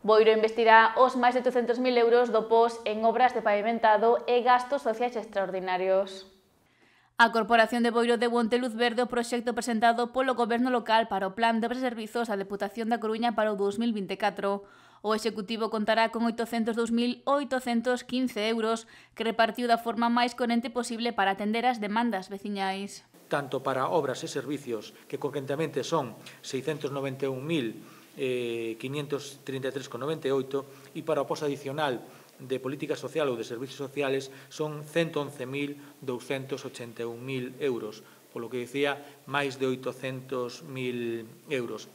Boiro investirá os máis de 800.000 euros do POS en obras de pavimentado e gastos sociais extraordinarios. A Corporación de Boiro de Monte Luz Verde o proxecto presentado polo Goberno local para o Plan de Obras e Servizos da Deputación da Coruña para o 2024. O Executivo contará con 802.815 euros que repartiu da forma máis coherente posible para atender as demandas veciñais. Tanto para obras e servicios, que concretamente son 691.533,98, e para o POS adicional de política social ou de servicios sociales son 111.281.000 euros, polo que dicía máis de 800.000 euros.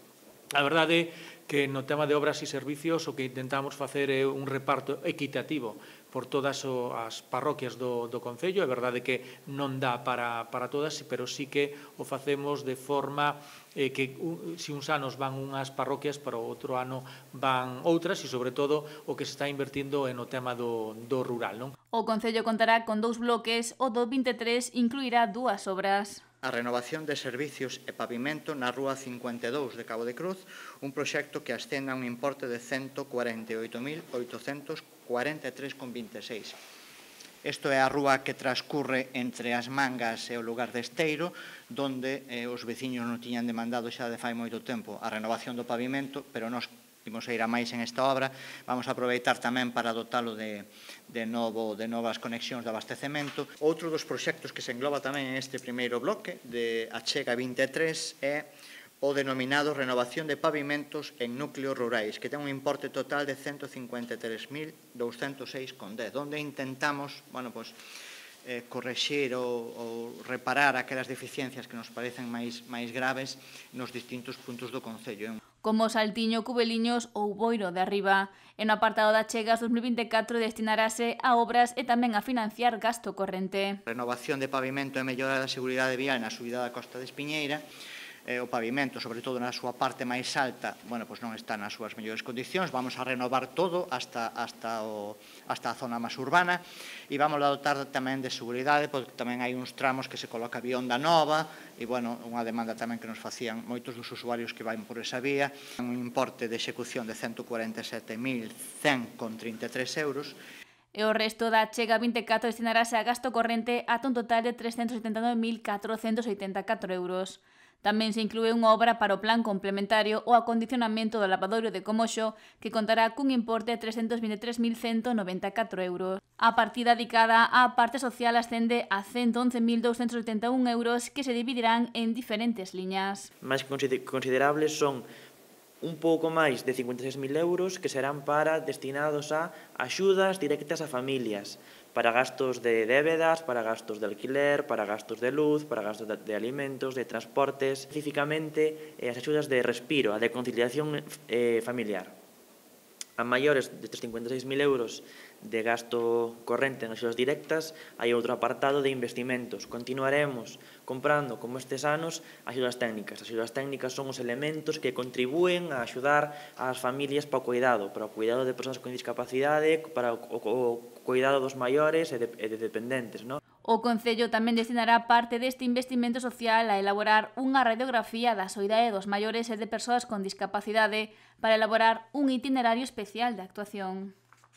A verdade é que no tema de obras e servicios o que intentamos facer é un reparto equitativo por todas as parroquias do Concello. É verdade que non dá para todas, pero sí que o facemos de forma que se uns anos van unhas parroquias, para o outro ano van outras, e sobre todo o que se está invertindo é no tema do rural, non? O Concello contará con 2 bloques, o do 23 incluirá 2 obras. A renovación de servicios e pavimento na Rúa 52 de Cabo de Cruz, un proxecto que ascende a un importe de 148.843,26. Isto é a rúa que transcurre entre as Mangas e o lugar de Esteiro, donde os veciños non tiñan demandado xa de fai moito tempo a renovación do pavimento, pero nós imos a ir a máis en esta obra. Vamos a aproveitar tamén para dotalo de novas conexións de abastecemento. Outro dos proxectos que se engloba tamén en este primeiro bloque de Achega 23 é o denominado renovación de pavimentos en núcleos rurais, que ten un importe total de 153.206,10, onde intentamos, correxir ou reparar aquelas deficiencias que nos parecen máis graves nos distintos puntos do Concello. Como Saltiño, Cubeliños ou Boiro de Arriba. E no apartado da Achegas 2024 destinarase a obras e tamén a financiar gasto corrente. Renovación de pavimento e mellora da seguridade vial na subida da Costa de Espiñeira. O pavimento, sobre todo na súa parte máis alta, non está nas súas mellores condicións. Vamos a renovar todo hasta a zona máis urbana, e vamos a dotar tamén de seguridade, porque tamén hai uns tramos que se coloca vionda nova, e unha demanda tamén que nos facían moitos dos usuarios que van por esa vía. Un importe de execución de 147.100,33 euros. E o resto da Achega 24 destinarase a gasto corrente ata un total de 379.484 euros. Tamén se inclúe unha obra para o plan complementario o acondicionamento do lavadoiro de Comoxo, que contará cun importe de 323.194 euros. A partida dedicada á parte social ascende a 111.281 euros, que se dividirán en diferentes liñas. Máis considerables son un pouco máis de 56.000 euros que serán destinados a axudas directas a familias, para gastos de débedas, para gastos de alquiler, para gastos de luz, para gastos de alimentos, de transportes, especificamente as axudas de respiro, a de conciliación familiar. A maiores de 56.000 euros de gasto corrente en axudas directas, hai outro apartado de investimentos. Continuaremos comprando, como estes anos, axudas técnicas. As axudas técnicas son os elementos que contribúen a axudar ás familias para o cuidado de persoas con discapacidade, para o cuidado dos maiores e de dependentes, non? O Concello tamén destinará parte deste investimento social a elaborar unha radiografía da soidade dos maiores e de persoas con discapacidade para elaborar un itinerario especial de actuación.